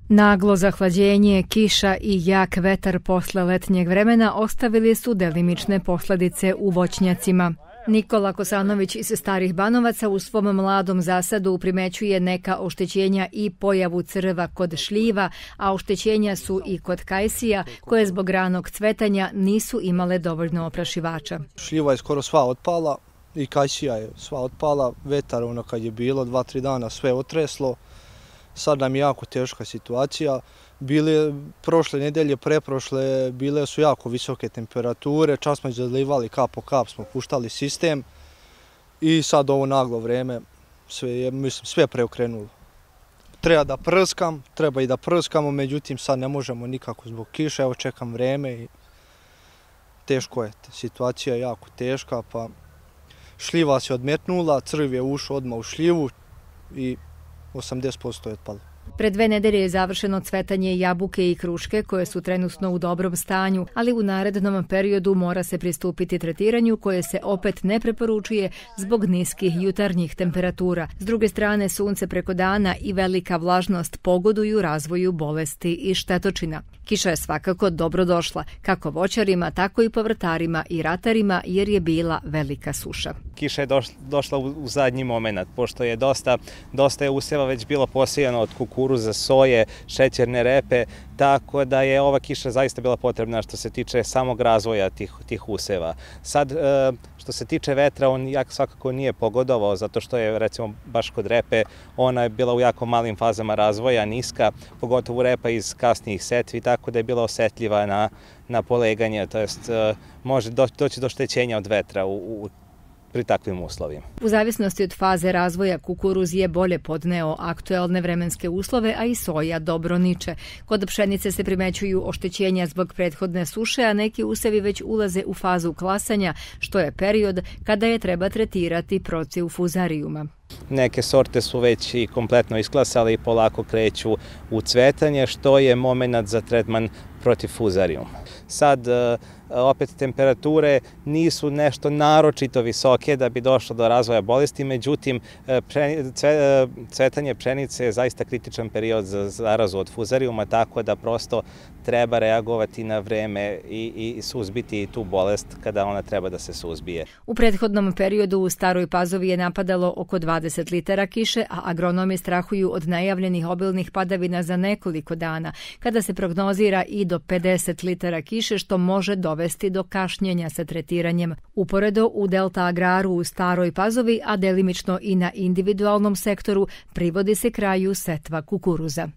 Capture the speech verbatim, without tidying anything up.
Naglo zahlađenje, kiša i jak vetar posle letnjeg vremena ostavili su delimične posledice u voćnjacima. Nikola Kosanović iz Starih Banovaca u svom mladom zasadu primećuje neka oštećenja i pojavu crva kod šljiva, a oštećenja su i kod kajsija, koje zbog ranog cvetanja nisu imale dovoljno oprašivača. Šljiva je skoro sva otpala i kajsija je sva otpala. Vetar ono kad je bilo, dva, tri dana sve otreslo. Sad nam je jako teška situacija. Bile prošle nedelje, preprošle, bile su jako visoke temperature, čas smo izlivali kap po kap, smo puštali sistem i sad ovo naglo vreme sve je, mislim, sve preokrenulo. Treba da prskam, treba i da prskamo, međutim sad ne možemo nikako zbog kiše, evo čekam vreme i teško je, situacija je jako teška, pa šljiva se odmetnula, crv je ušao odmah u šljivu i osamdeset posto je otpalo. Pred dve nedelje je završeno cvetanje jabuke i kruške koje su trenutno u dobrom stanju, ali u narednom periodu mora se pristupiti tretiranju koje se opet ne preporučuje zbog niskih jutarnjih temperatura. S druge strane, sunce preko dana i velika vlažnost pogoduju razvoju bolesti i štetočina. Kiša je svakako dobro došla, kako voćarima, tako i povrtarima i ratarima, jer je bila velika suša. Kiša je došla u zadnji moment, pošto je dosta, dosta je usjeva već bilo posijano od kukuruza, soje, šećerne repe, tako da je ova kiša zaista bila potrebna što se tiče samog razvoja tih, tih usjeva. Sad, što se tiče vetra, on jak svakako nije pogodovao, zato što je, recimo, baš kod repe, ona je bila u jako malim fazama razvoja, niska, pogotovo repa iz kasnijih setvi, tako da je bila osetljiva na, na poleganje, to jest može doći do oštećenja od vetra u, u pri takvim uslovima. U zavisnosti od faze razvoja kukuruz je bolje podneo aktuelne vremenske uslove, a i soja dobro niče. Kod pšenice se primećuju oštećenja zbog prethodne suše, a neki usevi već ulaze u fazu klasanja, što je period kada je treba tretirati protiv fuzarijuma. Neke sorte su već i kompletno isklasale i polako kreću u cvetanje, što je moment za tretman protiv fuzarijuma. Sad, opet, temperature nisu nešto naročito visoke da bi došlo do razvoja bolesti, međutim, cvetanje pšenice je zaista kritičan period za zarazu od fuzarijuma, tako da prosto treba reagovati na vreme i, i suzbiti tu bolest kada ona treba da se suzbije. U prethodnom periodu u Staroj Pazovi je napadalo oko dvadeset litara kiše, a agronomi strahuju od najavljenih obilnih padavina za nekoliko dana, kada se prognozira i do pedeset litara kiše, što može dovesti do kašnjenja sa tretiranjem. Uporedo, u Delta Agraru u Staroj Pazovi, a delimično i na individualnom sektoru, privodi se kraju setva kukuruza.